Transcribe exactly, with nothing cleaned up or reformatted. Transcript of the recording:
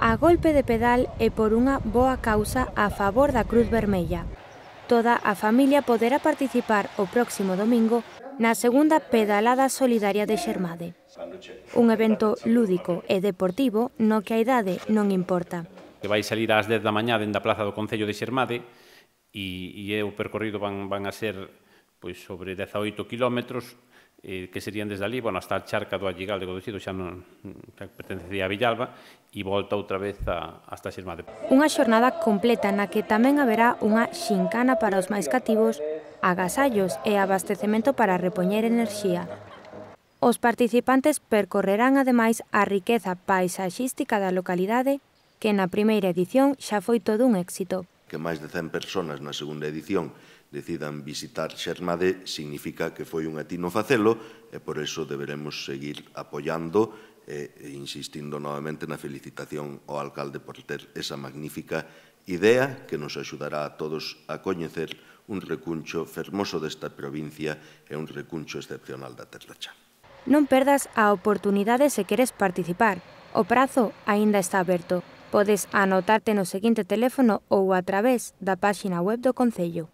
A golpe de pedal e por unha boa causa a favor da Cruz Vermella. Toda a familia poderá participar o próximo domingo na segunda pedalada solidaria de Xermade. Un evento lúdico e deportivo no que a idade non importa. Que vai salir ás dez da mañá dende a plaza do Concello de Xermade e, e o percorrido van, van a ser pois, sobre dezaoito kilómetros, eh, que serían desde ali, bueno, hasta a charca do Alligal de Godocido, xa non xa pertenecía a Villalba, e volta outra vez a, hasta Xermade. Unha xornada completa na que tamén haberá unha xincana para os máis cativos, agasallos e abastecemento para repoñer enerxía. Os participantes percorrerán ademais a riqueza paisaxística da localidade, que na primeira edición xa foi todo un éxito. Que máis de cen persoas na segunda edición decidan visitar Xermade significa que foi un atino facelo e por iso deberemos seguir apoiando e insistindo novamente na felicitación ao alcalde por ter esa magnífica idea que nos axudará a todos a coñecer un recuncho fermoso desta provincia e un recuncho excepcional da Terra Cha. Non perdas a oportunidade se queres participar. O prazo aínda está aberto. Podes anotarte no seguinte teléfono ou a través da páxina web do Concello.